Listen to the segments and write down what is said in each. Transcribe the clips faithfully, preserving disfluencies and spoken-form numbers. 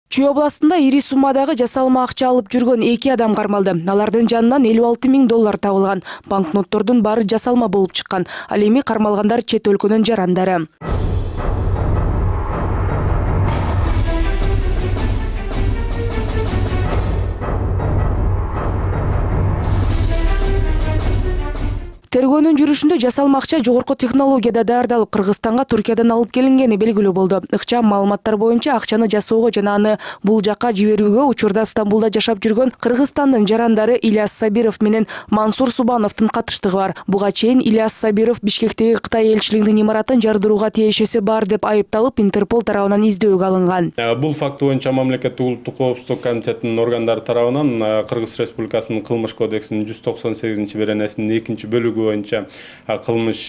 Чүй областында ири суммадагы жасалма акча алып жүргөн эки адам кармалды. Алардын жанынан элүү алты миң доллар табылган. Банкноттордун баары жасалма болуп чыккан. Ал эми кармалгандар чет өлкөнүн жарандары. Тергөөнүн жүрүшүндө жасалма акча жогорку технологияда даярдалып Кыргызстанга Туркиядан алып келингени белгилүү болду. Ыкчам маалыматтар боюнча акчаны жасоого жана аны бул жакка жиберүүгө учурда Стамбулда жашап жүргөн Кыргызстандын жарандары Ильяс Сабиров менен Мансур Субановдун катыштыгы бар. Буга чейин Ильяс Сабиров Бишкектеги Кытай элчилигинин имаратын жардырууга тиешеси бар деп айыпталып, Интерпол тарабынан издөөгө алынган. Бул факт боюнча мамлекеттик улуттук коопсуздук комитетинин органдары тарабынан Кыргыз Республикасынын Кылмыш кодексинин жүз токсон сегизинчи беренесинин экинчи бөлүгү боюнча кылмыш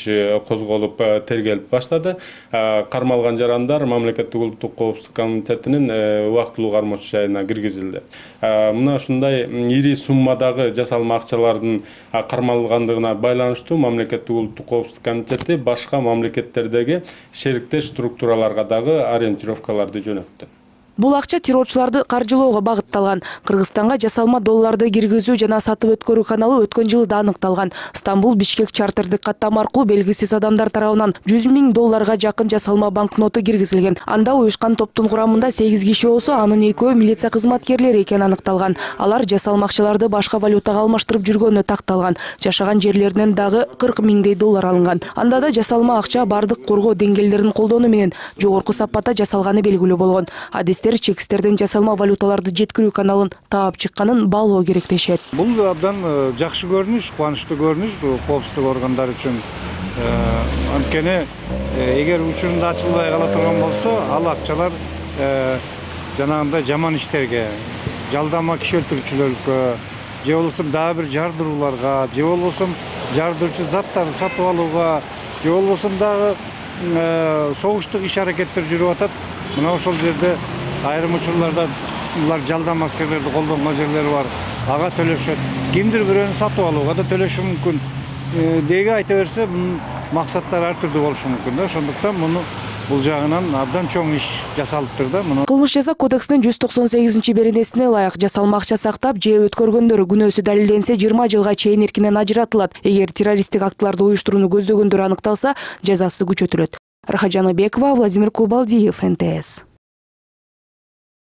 козголуп тергелип баштады. Кармалган жарандар мамлекеттик улуттук коопсуздук комитетинин убактылуу кармоочу жайына киргизилди. Мына ушундай ири суммадагы жасалма акчалардын кармалгандыгына байланыштуу мамлекеттик улуттук коопсуздук комитети башка мамлекеттердеги шериктеш структураларга дагы ориентировкаларды жөнөттү. Бул акча террорчуларды каржылоого багытталган. Кыргызстанга жасалма долларды киргизүү жана сатып өткөрүү каналы өткөн жылы да аныкталган. Стамбул Бишкек чартердик каттама аркылуу белгисиз адамдар тарабынан жүз миң долларга жакын жасалма банкноту киргизилген. Анда уюшкан топтун курамында сегиз киши болсо, анын экөө милиция кызматкерлери экени аныкталган. Алар жасалма акчаларды башка валютага алмаштырып жүргөнү такталган. Жашаган жерлеринен дагы кырк миңдей доллар алынган. Анда да жасалма акча бардык коргоо деңгээлдерин колдонуу менен жогорку сапатта жасалганы белгилүү болгон. Адистер чекистерден жасалма валюталарды жеткирүү каналын таап чыкканын баалоо керек дешет. Бул абдан жакшы көрүнүш, кубанычтуу көрүнүш коопсуздук органдары үчүн. Анткени эгер учурунда ачылбай кала турган болсо, ал акчалар жанагындай жаман иштерге, жалдама киши өлтүрүүчүлөргө, же болбосо дагы бир жардырууларга, же болбосо жардыруучу заттарды сатып алууга, же болбосо дагы согуштук иш аракеттер жүрүп атат. Мына ошол жерде айрым учурларда булар жалдам аскерлерди колдонгон жерлери бар. Ага төлөшөт. Кимдир бирөөнү сатып алууга да төлөшү мүмкүн. Деги айта берсе, бунун максаттары ар түрдүү болушу мүмкүн да. Ошондуктан муну бул жагынан абдан чоң иш жасалыптыр да. Муну Кылмыш жаза кодексинин жүз токсон сегизинчи беренесине ылайык жасалма акча сактап же өткөргөндөр күнөөсү далилденсе жыйырма жылга чейин эркинен ажыратылат. Эгер террористтик актыларды уюштурууну көздөгөндөр аныкталса, жазасы күчөтүлөт. Рахат Жаныбекова, Владимир Кубалдиев, эн тэ эс.